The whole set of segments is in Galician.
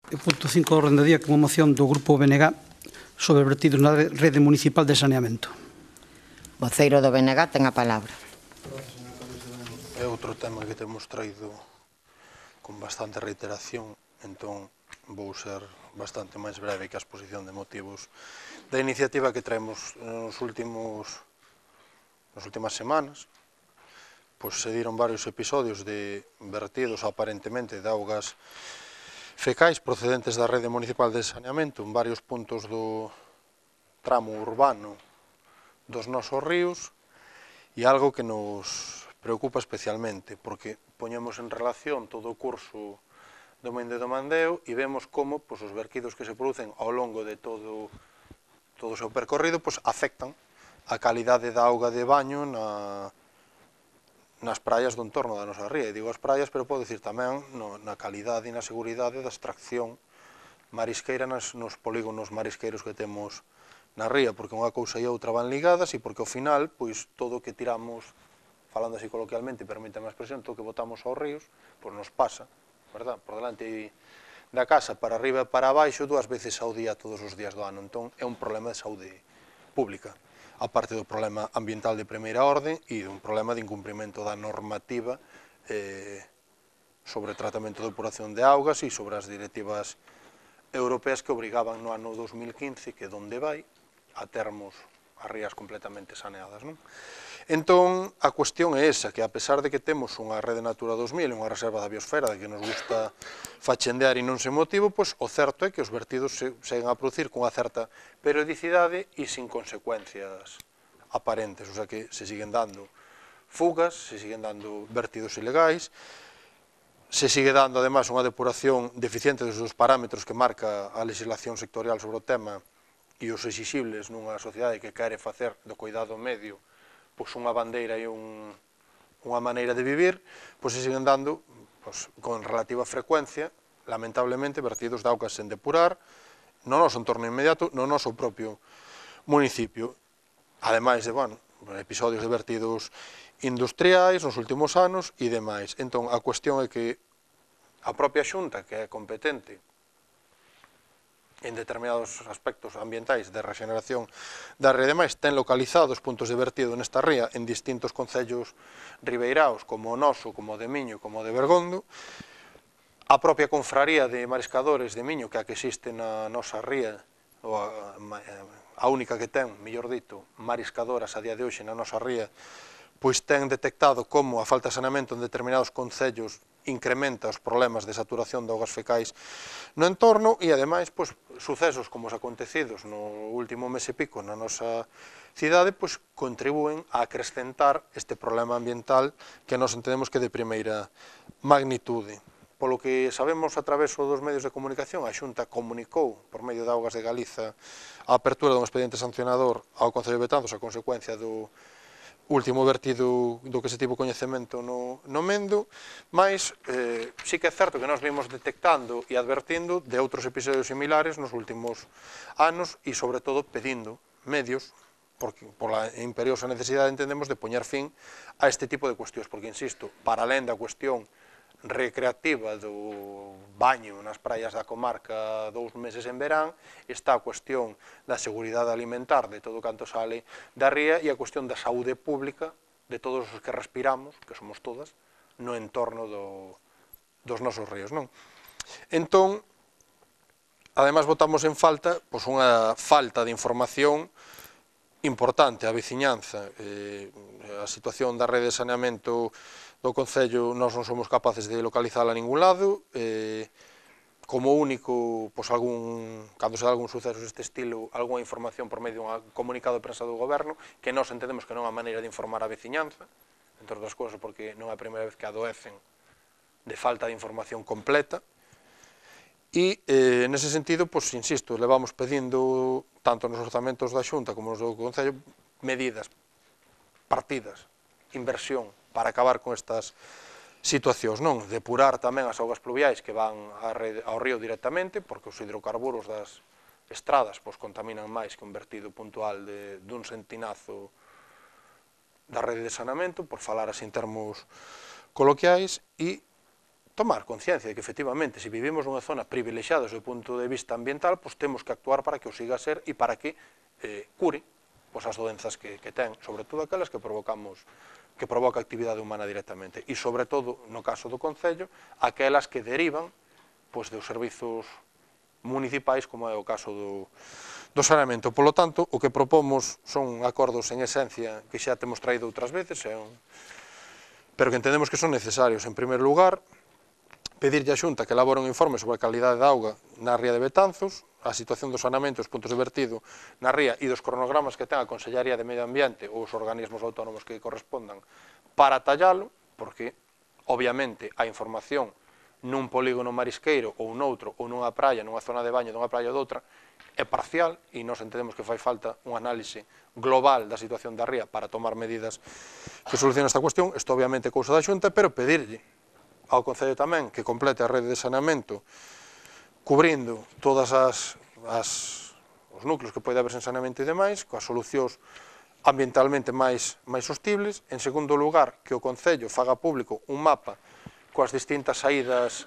O punto 5 do orde do día, como moción do Grupo BNG sobre vertidos na rede municipal de saneamento. Voceiro do BNG ten a palabra. É outro tema que temos traído con bastante reiteración, entón vou ser bastante máis breve que a exposición de motivos da iniciativa que traemos nas últimas semanas. Pois se diron varios episodios de vertidos aparentemente de augas fecais procedentes da rede municipal de saneamento en varios puntos do tramo urbano dos nosos ríos, e algo que nos preocupa especialmente, porque poñemos en relación todo o curso do Mende do Mandeo e vemos como os vertidos que se producen ao longo de todo o seu percorrido afectan a calidade da auga de baño nas praias do entorno da nosa ría. E digo as praias, pero podo dicir tamén na calidade e na seguridade da extracción marisqueira nos polígonos marisqueiros que temos na ría, porque unha cousa e outra van ligadas e porque ao final, todo o que tiramos, falando así coloquialmente, permítame a expresión, todo o que botamos aos ríos, nos pasa, verdad, por delante da casa, para arriba e para abaixo, 2 veces ao día, todos os días do ano. Entón, é un problema de saúde pública, aparte do problema ambiental de primeira orde e un problema de incumprimento da normativa sobre tratamento e depuración de augas e sobre as directivas europeas que obrigaban no ano 2015, que donde vai, a termos as rías completamente saneadas. Entón, a cuestión é esa, que a pesar de que temos unha rede Natura 2000, unha reserva da biosfera, de que nos gusta fachendear e non sen motivo, o certo é que os vertidos seguen a producir cunha certa periodicidade e sin consecuencias aparentes, o sea que se siguen dando fugas, se siguen dando vertidos ilegais, se sigue dando, además, unha depuración deficiente dos parámetros que marca a legislación sectorial sobre o tema e os exixibles nunha sociedade que quere facer do cuidado medio unha bandeira e unha maneira de vivir, se siguen dando con relativa frecuencia, lamentablemente, vertidos de augas sen depurar no noso entorno inmediato, no noso propio municipio, ademais de, episodios de vertidos industriais nos últimos anos e demais. Entón, a cuestión é que a propia Xunta, que é competente en determinados aspectos ambientais de regeneración da ría e demais, ten localizados puntos de vertido nesta ría en distintos concellos ribeiraos, como o noso, como o de Miño, como o de Bergondo. A propia confraría de mariscadores de Miño, que é a que existe na nosa ría, a única que ten, mellor dito, mariscadoras a día de hoxe na nosa ría, ten detectado como a falta de saneamento en determinados concellos incrementa os problemas de saturación de augas fecais no entorno e, ademais, sucesos como os acontecidos no último mes e pico na nosa cidade contribúen a acrescentar este problema ambiental que nós entendemos que é de primeira magnitude. Polo que sabemos a través dos medios de comunicación, a Xunta comunicou por medio de Augas de Galiza a apertura dun expediente sancionador ao Concello de Betanzos a consecuencia do último vertido do que se tivo coñecemento no Mendo, mas sí que é certo que nós vimos detectando e advertindo de outros episodios similares nos últimos anos e, sobre todo, pedindo medios, porque por a imperiosa necesidade entendemos de poñer fin a este tipo de cuestións, porque, insisto, para alén da cuestión recreativa do baño nas praias da comarca 2 meses en verán, está a cuestión da seguridade alimentar de todo canto sale da ría e a cuestión da saúde pública de todos os que respiramos, que somos todas, no entorno dos nosos ríos. Entón, ademais, botamos en falta unha falta de información importante á veciñanza. A situación da rede de saneamento do Concello nós non somos capaces de localizala a ningún lado, como único, cando se dá algún suceso deste estilo, algunha información por medio dun comunicado de prensa do Goberno, que nós entendemos que non é a maneira de informar a veciñanza, entre outras cousas porque non é a primeira vez que adoecen de falta de información completa, e, nese sentido, insisto, levamos pedindo, tanto nos orzamentos da Xunta como nos do Concello, medidas, partidas, inversión, para acabar con estas situacións, depurar tamén as augas pluviais que van ao río directamente, porque os hidrocarburos das estradas contaminan máis que un vertido puntual dun sentinazo da rede de saneamento, por falar así en termos coloquiais, e tomar conciencia de que, efectivamente, se vivimos nunha zona privilexiada desde o punto de vista ambiental, pois temos que actuar para que o siga a ser e para que cure pois as doenzas que ten, sobre todo aquelas que provoca a actividade humana directamente, e sobre todo, no caso do Concello, aquelas que derivan pois dos servizos municipais, como é o caso do saneamento. Polo tanto, o que propomos son acordos en esencia que xa temos traído outras veces, pero que entendemos que son necesarios. En primeiro lugar, pedirlle á Xunta que elabore un informe sobre a calidade da auga na ría de Betanzos, a situación do saneamento, os puntos de vertido na ría e dos cronogramas que ten a Consellería de Medio Ambiente ou os organismos autónomos que correspondan para tallalo, porque, obviamente, a información nun polígono marisqueiro ou noutro, ou nunha praia, nunha zona de baño dunha praia ou doutra, é parcial e nós entendemos que fai falta un análise global da situación da ría para tomar medidas que solucionen esta cuestión. Isto obviamente é cousa da Xunta, pero pedirlle ao Concello tamén que complete a rede de saneamento cubrindo todas os núcleos que pode haber sen saneamento e demais, coas solucións ambientalmente máis sostibles. En segundo lugar, que o Concello faga público un mapa coas distintas saídas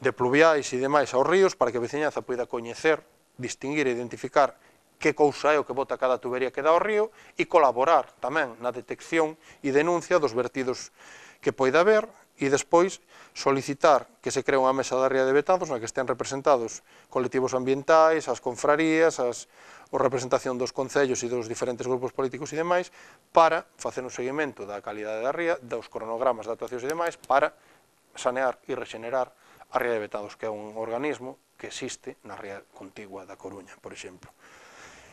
de pluviais e demais aos ríos para que a veciñanza poida coñecer, distinguir e identificar que cousa é o que bota cada tubería que dá ao río e colaborar tamén na detección e denuncia dos vertidos que poida haber, e despois solicitar que se cree unha mesa da ría de Betanzos na que estén representados colectivos ambientais, as confrarías, a representación dos concellos e dos diferentes grupos políticos e demais, para facer un seguimento da calidade da ría, dos cronogramas de actuacións e demais, para sanear e rexenerar a ría de Betanzos, que é un organismo que existe na ría contigua da Coruña, por exemplo.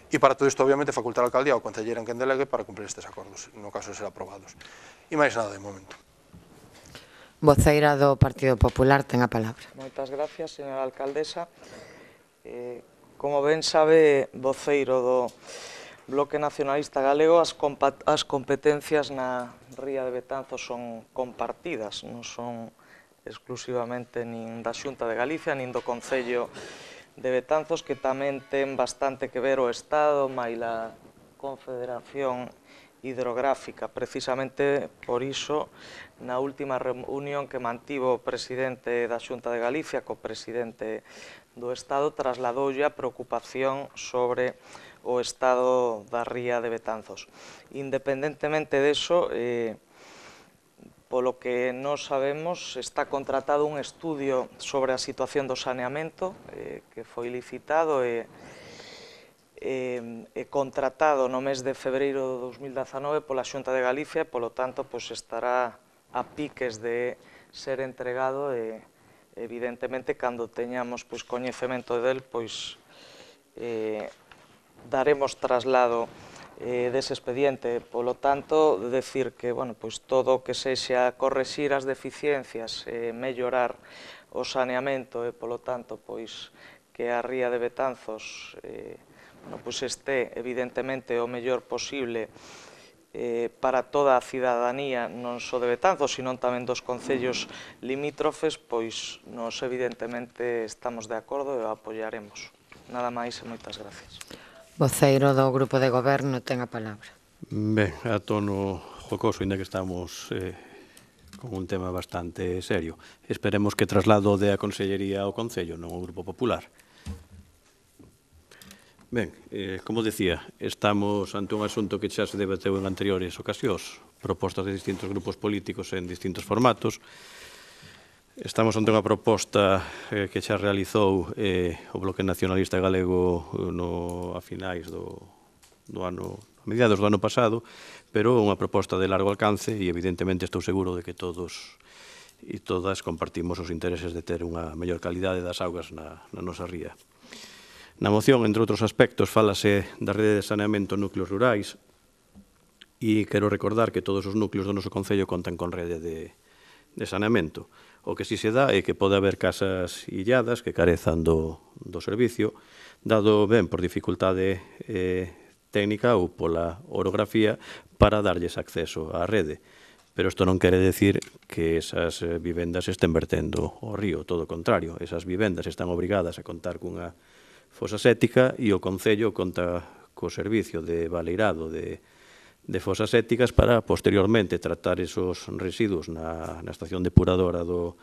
E para todo isto, obviamente, facultar a alcaldía ao concelleiro en quen delegue para cumprir estes acordos, no caso de ser aprobados. E máis nada de momento. Voceira do Partido Popular ten a palabra. Moitas gracias, señora alcaldesa. Como ben sabe, voceiro do Bloque Nacionalista Galego, as competencias na ría de Betanzos son compartidas, non son exclusivamente nin da Xunta de Galicia, nin do Concello de Betanzos, que tamén ten bastante que ver o Estado, maila Confederación Hidrográfica. Precisamente por iso, na última reunión que mantivo o presidente da Xunta de Galicia co presidente do Estado, trasladoulle a preocupación sobre o estado da ría de Betanzos. Independentemente deso, polo que nós sabemos, está contratado un estudio sobre a situación do saneamento que foi licitado e contratado no mes de febreiro de 2019 pola Xunta de Galicia, e, polo tanto, estará a piques de ser entregado e, evidentemente, cando teñamos coñecemento del, daremos traslado dese expediente. Polo tanto, decir que todo o que sexa correxir as deficiencias, mellorar o saneamento e, polo tanto, que a ría de Betanzos este, evidentemente, o mellor posible para toda a cidadanía, non só de Betanzos, sino tamén dos concellos limítrofes, nos evidentemente estamos de acordo e o apoiaremos. Nada máis e moitas gracias. Voceiro do Grupo de Goberno ten a palabra. Ben, a tono jocoso, ainda que estamos con un tema bastante serio. Esperemos que traslado de a Consellería ao Concello, non ao Grupo Popular. Ben, como decía, estamos ante un asunto que xa se debateu en anteriores ocasións, propostas de distintos grupos políticos en distintos formatos. Estamos ante unha proposta que xa realizou o Bloque Nacionalista Galego a finais do ano, a mediados do ano pasado, pero unha proposta de largo alcance e evidentemente estou seguro de que todos e todas compartimos os intereses de ter unha mellor calidade das augas na nosa ría. Na moción, entre outros aspectos, fálase da rede de saneamento en núcleos rurais e quero recordar que todos os núcleos do noso Concello contan con rede de saneamento. O que si se dá é que pode haber casas illadas que carezan do servicio, dado ben por dificultade técnica ou pola orografía para darlles acceso á rede. Pero isto non quere decir que esas vivendas estén vertendo ao río, todo o contrario. Esas vivendas están obrigadas a contar cunha fosa séptica e o Concello conta co servicio de baleirado de fosas sépticas para posteriormente tratar esos residuos na estación depuradora do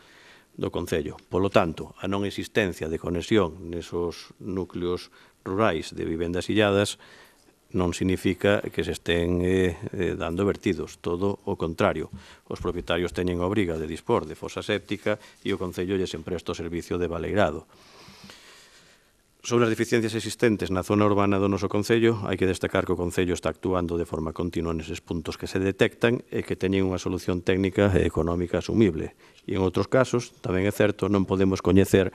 do Concello. Polo tanto, a non existencia de conexión nesos núcleos rurais de vivendas illadas non significa que se estén dando vertidos, todo o contrario. Os propietarios teñen a obriga de dispor de fosa séptica e o Concello lles empresta o servicio de baleirado. Sobre as deficiencias existentes na zona urbana do noso Concello, hai que destacar que o Concello está actuando de forma continua neses puntos que se detectan e que teñen unha solución técnica e económica asumible. E en outros casos, tamén é certo, non podemos coñecer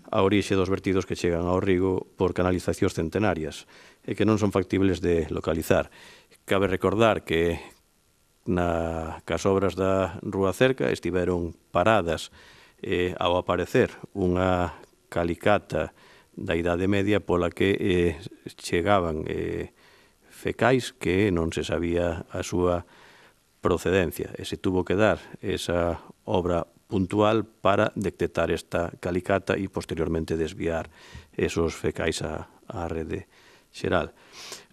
a orixe dos vertidos que chegan ao Rigo por canalizacións centenarias e que non son factibles de localizar. Cabe recordar que cas obras da Rúa Cerca estiveron paradas ao aparecer unha calicata da Idade Media pola que chegaban fecais que non se sabía a súa procedencia e se tuvo que dar esa obra puntual para detectar esta calicata e posteriormente desviar esos fecais á rede xeral.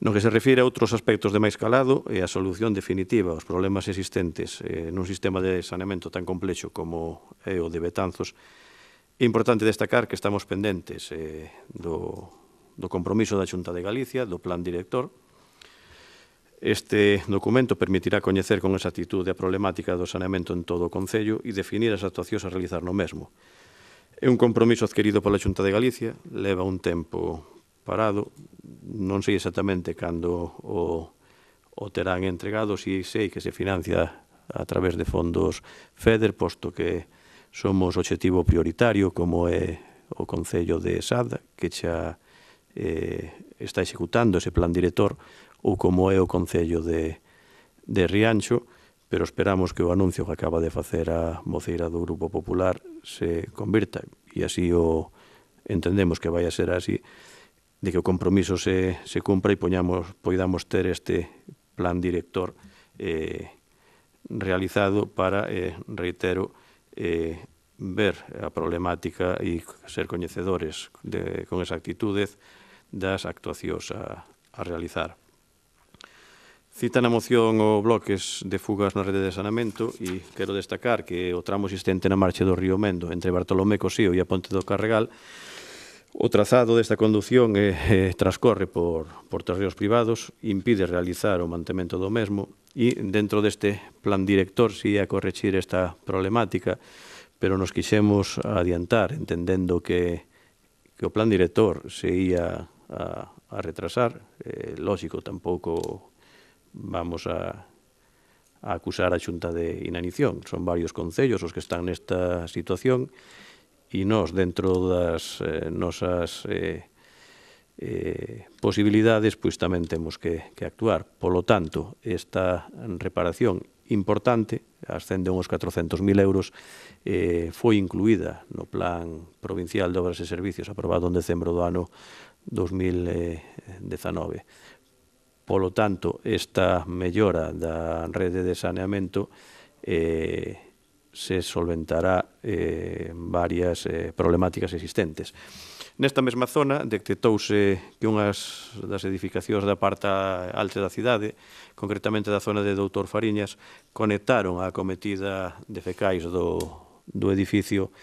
No que se refire a outros aspectos de máis calado e a solución definitiva aos problemas existentes nun sistema de saneamento tan complexo como é o de Betanzos, é importante destacar que estamos pendentes do compromiso da Xunta de Galicia, do Plan Director. Este documento permitirá coñecer con exactitude a problemática do saneamento en todo o Concello e definir as actuacións a realizar no mesmo. É un compromiso adquirido pola Xunta de Galicia, leva un tempo parado, non sei exactamente cando o terán entregado, si sei que se financia a través de fondos FEDER, posto que somos obxectivo prioritario, como é o Concello de Sada, que xa está executando ese plan director, ou como é o Concello de Rianxo, pero esperamos que o anuncio que acaba de facer a voceira do Grupo Popular se convirta, e así o entendemos que vai a ser así, de que o compromiso se cumpra e poidamos ter este plan director realizado para, reitero, ver a problemática e ser coñecedores con exactitude das actuacións a realizar. Cita na moción o bloques de fugas na rede de saneamento e quero destacar que o tramo existente na marcha do río Mendo entre Bartolomé Cosío e a Ponte do Carregal, o trazado desta condución transcorre por terreos privados, impide realizar o mantemento do mesmo e dentro deste plan director si a corregir esta problemática, pero nos quixemos adiantar entendendo que o plan director se ia a retrasar. Lógico, tampouco vamos a acusar a Xunta de inanición. Son varios concellos os que están nesta situación e nós, dentro das nosas posibilidades, pois tamén temos que actuar. Polo tanto, esta reparación importante, ascende a uns 400.000 euros, foi incluída no Plan Provincial de Obras e Servicios aprobado en decembro do ano 2019. Polo tanto, esta mellora da rede de saneamento se solventará varias problemáticas existentes. Nesta mesma zona detectouse que unhas das edificacións da parte alta da cidade, concretamente da zona de Doutor Fariñas, conectaron a acometida de fecais do edificio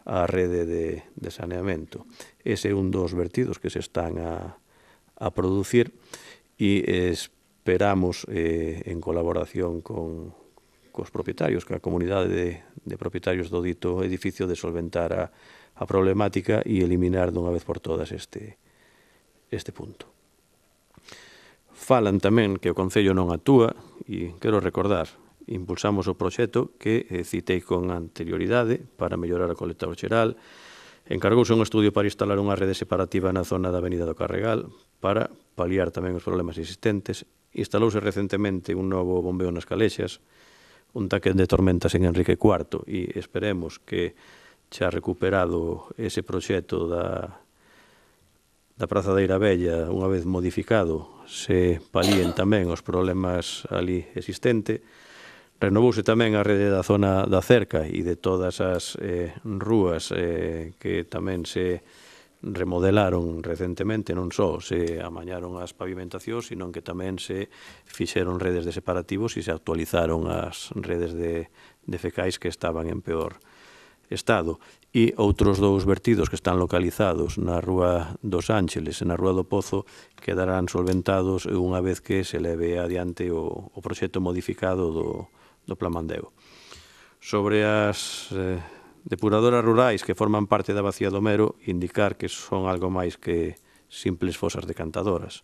á rede de saneamento. Ese é un dos vertidos que se están a producir e esperamos, en colaboración cos propietarios, coa comunidade de propietarios do dito edificio, de solventar a problemática e eliminar dunha vez por todas este punto. Falan tamén que o Concello non actúa e quero recordar, impulsamos o proxecto que citei con anterioridade para mellorar o colector xeral, encargouse un estudio para instalar unha rede separativa na zona da Avenida do Carregal para paliar tamén os problemas existentes, instalouse recentemente un novo bombeo nas Calexas, un taque de tormentas en Enrique IV e esperemos que xa recuperado ese proxecto da Praza da Irabella, unha vez modificado, se palíen tamén os problemas ali existentes. Renovouse tamén a rede da zona da Cerca e de todas as rúas que tamén se remodelaron recentemente, non só se amañaron as pavimentacións, sino que tamén se fixeron redes de separativos e se actualizaron as redes de fecais que estaban en peor Estado, e outros dous vertidos que están localizados na Rúa dos Ángeles e na Rúa do Pozo quedarán solventados unha vez que se leve adiante o proxecto modificado do Plan Mandeo. Sobre as depuradoras rurais que forman parte da Bacía do Mero, indicar que son algo máis que simples fosas decantadoras.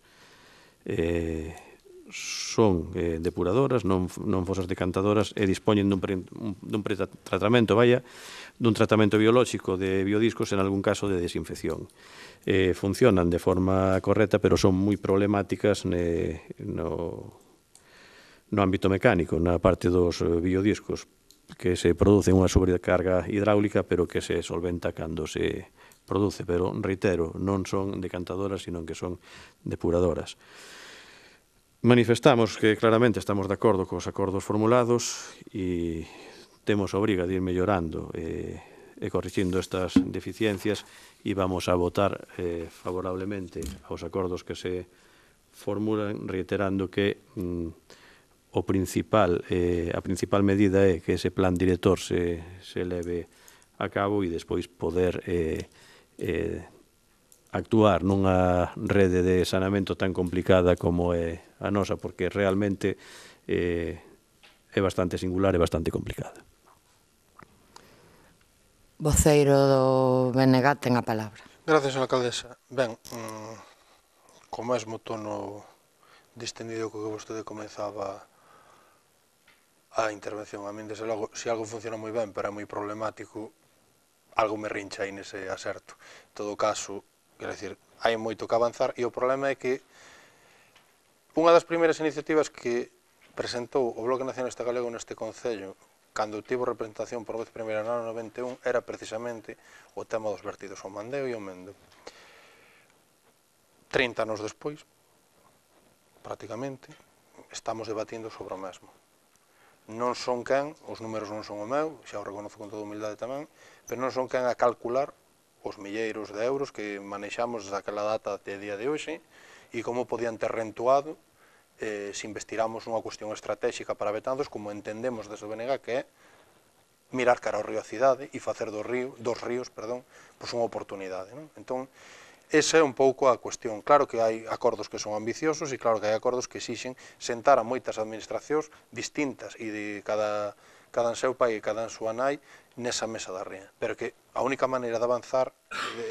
Son depuradoras, non fosas decantadoras, e dispoñen dun tratamento, dun tratamento biolóxico de biodiscos, en algún caso de desinfección. Funcionan de forma correcta, pero son moi problemáticas no ámbito mecánico, na parte dos biodiscos, que se produce unha sobrecarga hidráulica, pero que se solventa cando se produce. Pero, reitero, non son decantadoras, sino que son depuradoras. Manifestamos que claramente estamos de acordo cos acordos formulados e temos a obriga de ir mellorando e corrixindo estas deficiencias, e vamos a votar favorablemente aos acordos que se formulan, reiterando que a principal medida é que ese plan director se leve a cabo e despois poder actuar nunha rede de saneamento tan complicada como é a nosa, porque realmente é bastante singular e bastante complicada. Voceiro do BNG ten a palabra. Gracias, alcaldesa. Ben, co mesmo tono distendido co que vostede comezaba a intervención, a min, desde logo, se algo funciona moi ben, pero é moi problemático, algo me rincha aí nese aserto. En todo caso, quero dicir, hai moito que avanzar, e o problema é que unha das primeiras iniciativas que presentou o Bloque Nacionalista Galego neste Concello, cando tivo representación por vez primeira no ano 91, era precisamente o tema dos vertidos ao Mandeo e ao Mendo. 30 anos despois, prácticamente, estamos debatindo sobre o mesmo. Non son quen, os números non son o meu, xa o reconozo con toda humildade tamén, pero non son quen a calcular os milleiros de euros que manexamos desde aquela data até día de hoxe, e como podían ter rentuado se investiramos nunha cuestión estratégica para Betanzos, como entendemos desde o BNG, que é mirar cara ao río a cidade e facer dos ríos, unha oportunidade. Entón, esa é un pouco a cuestión. Claro que hai acordos que son ambiciosos e claro que hai acordos que exixen sentar a moitas administracións distintas e de cada en seu pai e cada en súa nai nesa mesa da ría. Pero que a única maneira de avanzar,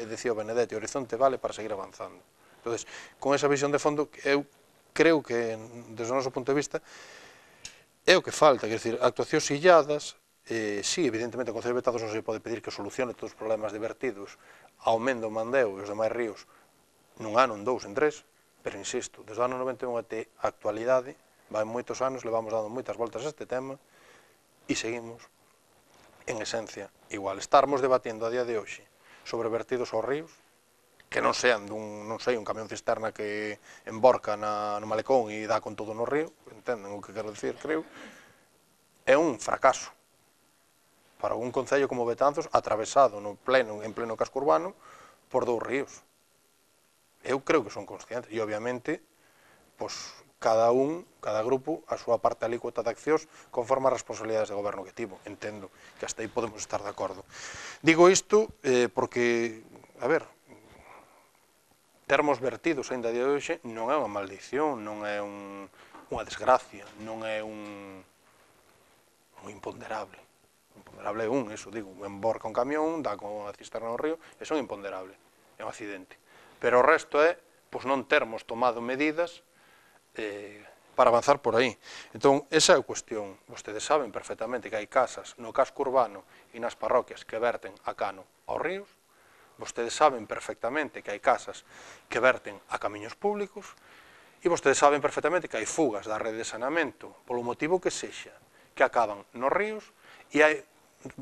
decía o Benedetti, o horizonte vale para seguir avanzando. Entón, con esa visión de fondo, eu creo que, desde o noso punto de vista, é o que falta. Quer dizer, actuacións illadas, sí, evidentemente, o Concello de Betanzos non se pode pedir que solucione todos os problemas de vertidos ao Mendo, ao Mandeo e os demais ríos nun ano, en dous, en tres, pero insisto, desde o ano 91 até a actualidade, vai moitos anos, levamos dando moitas voltas a este tema e seguimos, en esencia, igual. Estarmos debatindo a día de hoxe sobre vertidos aos ríos, que non sean un camión cisterna que emborca no malecón e dá con todo no río, entenden o que quero dicir, creo, é un fracaso para un concello como Betanzos, atravesado en pleno casco urbano por dous ríos. Eu creo que son conscientes, e obviamente, cada grupo, a súa parte alícuota de accións conforme as responsabilidades de goberno que tivo. Entendo que hasta aí podemos estar de acordo. Digo isto porque, a ver, termos vertidos ainda a día de hoxe non é unha maldición, non é unha desgracia, non é un imponderable. Imponderable é eso, digo, emborca un camión, dá con a cisterna no río, eso é un imponderable, é un accidente. Pero o resto é, non termos tomado medidas para avanzar por aí. Entón, esa é a cuestión. Vostedes saben perfectamente que hai casas no casco urbano e nas parroquias que verten a cano aos ríos. Vostedes saben perfectamente que hai casas que verten a camiños públicos e vostedes saben perfectamente que hai fugas da rede de saneamento polo motivo que sexa, que acaban nos ríos, e hai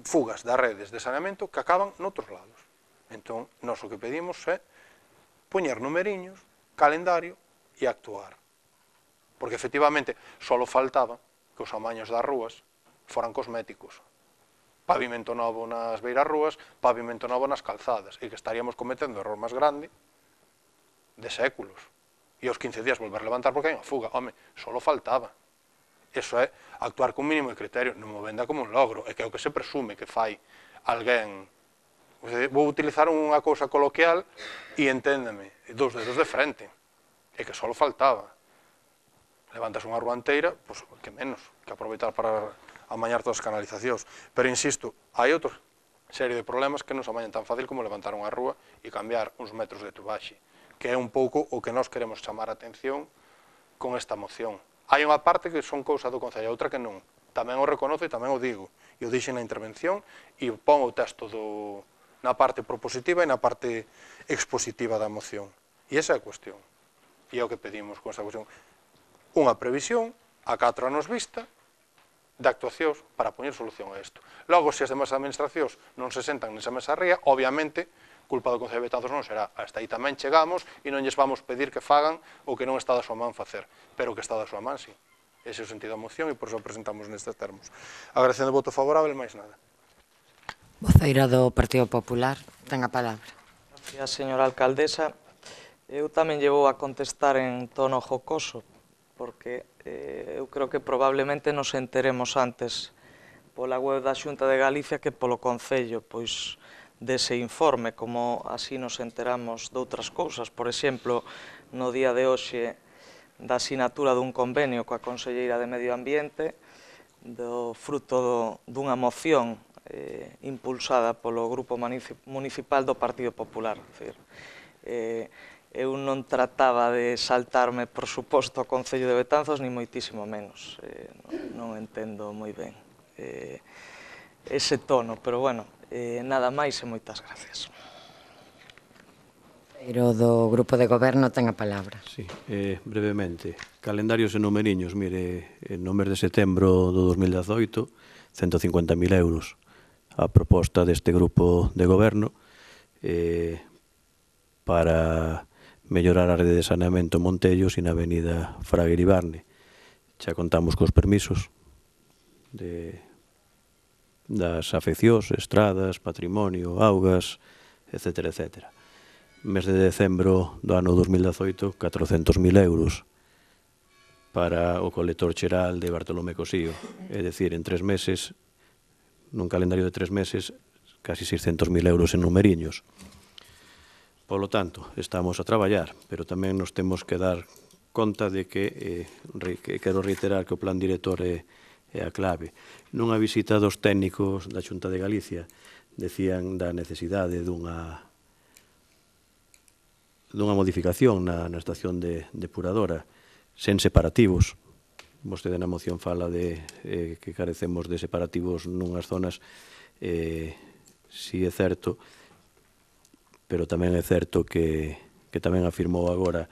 fugas das redes de saneamento que acaban noutros lados. Entón, nós o que pedimos é poñer numeriños, calendario e actuar. Porque, efectivamente, só faltaba que os amaños das rúas foran cosméticos. Pavimento novo nas beiras rúas, pavimento novo nas calzadas, e que estaríamos cometendo o error máis grande de séculos. E aos 15 días volver a levantar porque hai unha fuga. Home, só faltaba. Eso é actuar con mínimo de criterio, non mo venda como un logro, é que é o que se presume que fai alguén, vou utilizar unha cousa coloquial e enténdeme, dos dedos de frente, e que só faltaba. Levantas unha rúa inteira, pois que menos, que aproveitar para amañar todas as canalizacións. Pero insisto, hai outra serie de problemas que non se amañan tan fácil como levantar unha rúa e cambiar uns metros de tubaxe, que é un pouco o que nós queremos chamar a atención con esta moción. Hai unha parte que son cousa do Concello, outra que non. Tamén o reconozo e tamén o digo. E o dixen na intervención e pon o texto na parte propositiva e na parte expositiva da moción. E esa é a cuestión. E é o que pedimos con esta cuestión. Unha previsión a 4 anos vista de actuacións para poñer solución a isto. Logo, se as demais administracións non se sentan nesa mesa ría, obviamente, culpa do Concello de Betanzos non será. Hasta aí tamén chegamos e non lles vamos pedir que fagan o que non está da súa man facer, pero o que está da súa man, sí. Ese é o sentido da moción e por iso presentamos nestes termos. Agradecendo o voto favorável, máis nada. Voceiro do Partido Popular, ten a palabra. Gracias, señora alcaldesa. Eu tamén llevo a contestar en tono jocoso, porque eu creo que probablemente nos enteremos antes pola web da Xunta de Galicia que polo Concello, pois dese informe, como así nos enteramos de outras cousas. Por exemplo, no día de hoxe da asinatura dun convenio coa Conselleira de Medio Ambiente, do fruto dunha moción impulsada polo Grupo Municipal do Partido Popular. Eu non trataba de saltarme, por suposto, ao Concello de Betanzos, ni moitísimo menos. Non entendo moi ben ese tono, pero bueno, nada máis e moitas gracias. Voceiro do Grupo de Goberno ten a palabra. Sí, brevemente. Calendarios e numeriños, mire, no mes de setembro do 2018, 150.000 euros a proposta deste Grupo de Goberno para mellorar a rede de saneamento en Montellos e na avenida Fraga Iribarne. Xa contamos cos permisos das afeccións, estradas, patrimonio, augas, etc. etc. Mes de decembro do ano 2018, 400.000 euros para o colector xeral de Bartolomé Cosío. É dicir, en 3 meses, nun calendario de 3 meses, casi 600.000 euros en numeriños. Polo tanto, estamos a traballar, pero tamén nos temos que dar conta de que quero reiterar que o plan director é a clave. Nunha visita dos técnicos da Xunta de Galicia decían da necesidade dunha modificación na estación depuradora sen separativos. Vostede na moción fala de que carecemos de separativos nunhas zonas, si é certo, pero tamén é certo que tamén afirmou agora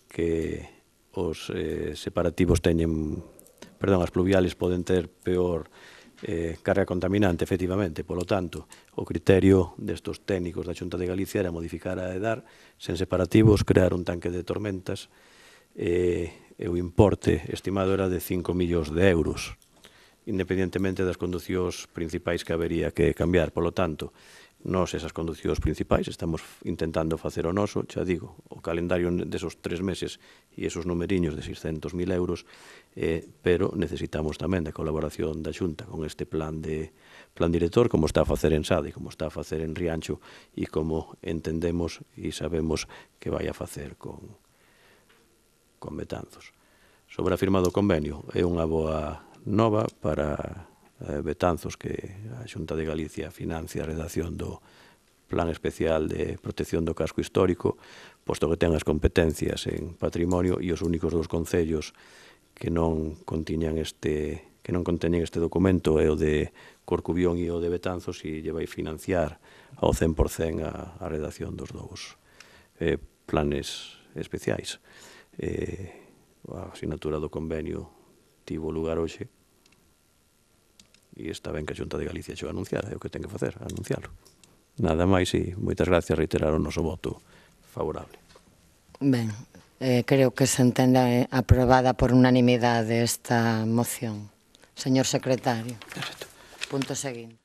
que os separativos as pluviales poden ter peor carga contaminante, efectivamente. Polo tanto, o criterio destos técnicos da Xunta de Galicia era modificar a EDAR sen separativos, crear un tanque de tormentas, e o importe estimado era de 5 millóns de euros, independentemente das conducións principais que habería que cambiar. Polo tanto, nós esas conducións principais estamos intentando facer o noso, xa digo, o calendario desos 3 meses e esos numeriños de 600.000 euros, pero necesitamos tamén da colaboración da Xunta con este plan director, como está a facer en Sade, como está a facer en Rianxo e como entendemos e sabemos que vai a facer con Betanzos. Sobre a firma do convenio, é unha boa nova para Betanzos que a Xunta de Galicia financia a redacción do Plan Especial de Protección do Casco Histórico, posto que ten as competencias en patrimonio e os únicos dos concellos que non conteñen este documento é o de Corcubión e o de Betanzos, e lle vai financiar ao 100% a redacción dos dous planes especiais. A asinatura do convenio tivo lugar hoxe e está ben que a Xunta de Galicia xo anunciara, é o que ten que facer, anunciarlo. Nada máis e moitas gracias, reiterar o noso voto favorable. Ben, creo que se entende aprobada por unanimidade esta moción. Señor secretario. Perfecto. Punto seguinte.